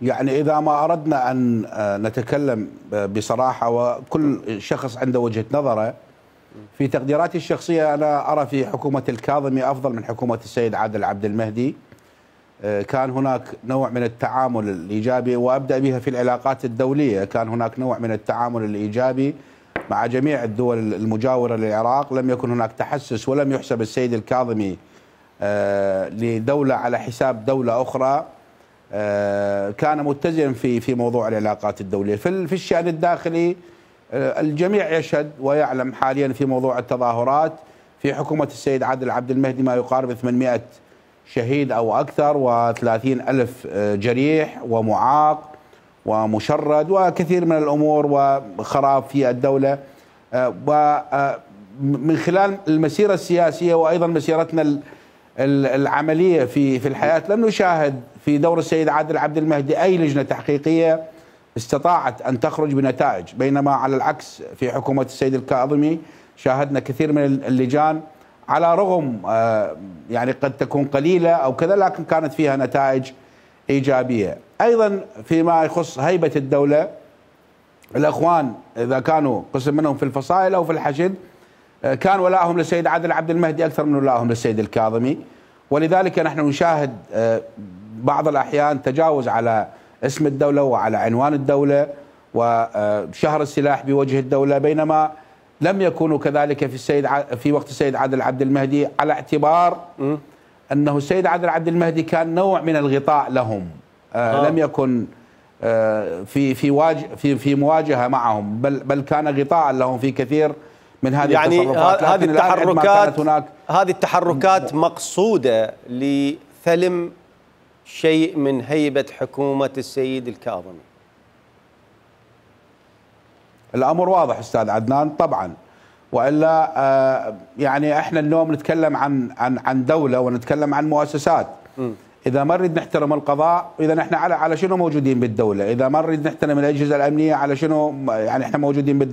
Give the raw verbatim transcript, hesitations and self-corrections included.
يعني إذا ما أردنا أن نتكلم بصراحة وكل شخص عنده وجهة نظره، في تقديراتي الشخصية أنا أرى في حكومة الكاظمي أفضل من حكومة السيد عادل عبد المهدي. كان هناك نوع من التعامل الإيجابي، وأبدأ بها في العلاقات الدولية. كان هناك نوع من التعامل الإيجابي مع جميع الدول المجاورة للعراق. لم يكن هناك تحسس، ولم يحسب السيد الكاظمي لدولة على حساب دولة أخرى. كان متزن في في موضوع العلاقات الدولية. في في الشأن الداخلي الجميع يشهد ويعلم حاليا في موضوع التظاهرات في حكومة السيد عادل عبد المهدي ما يقارب ثمانمئة شهيد أو أكثر، وثلاثين ألف جريح ومعاق ومشرد وكثير من الأمور وخراب في الدولة. ومن خلال المسيرة السياسية وأيضا مسيرتنا العملية في في الحياة لم نشاهد في دور السيد عادل عبد المهدي أي لجنة تحقيقية استطاعت أن تخرج بنتائج، بينما على العكس في حكومة السيد الكاظمي شاهدنا كثير من اللجان على رغم يعني قد تكون قليلة أو كذا، لكن كانت فيها نتائج إيجابية. أيضا فيما يخص هيبة الدولة، الأخوان إذا كانوا قسم منهم في الفصائل أو في الحشد كان ولائهم للسيد عادل عبد المهدي أكثر من ولائهم للسيد الكاظمي، ولذلك نحن نشاهد بعض الأحيان تجاوز على اسم الدولة وعلى عنوان الدولة وشهر السلاح بوجه الدولة، بينما لم يكونوا كذلك في السيد في وقت السيد عادل عبد المهدي، على اعتبار أنه السيد عادل عبد المهدي كان نوع من الغطاء لهم. آه لم يكن آه في في واجه في في مواجهة معهم، بل بل كان غطاء لهم في كثير من هذه يعني التصرفات. هذه التحركات هناك هذه التحركات مقصودة لثلم شيء من هيبة حكومة السيد الكاظمي. الأمر واضح أستاذ عدنان طبعا، وإلا آه يعني احنا اليوم نتكلم عن عن عن دولة ونتكلم عن مؤسسات. م. إذا ما نريد نحترم القضاء، إذا احنا على على شنو موجودين بالدولة؟ إذا ما نريد نحترم الأجهزة الأمنية، على شنو يعني احنا موجودين بالدولة؟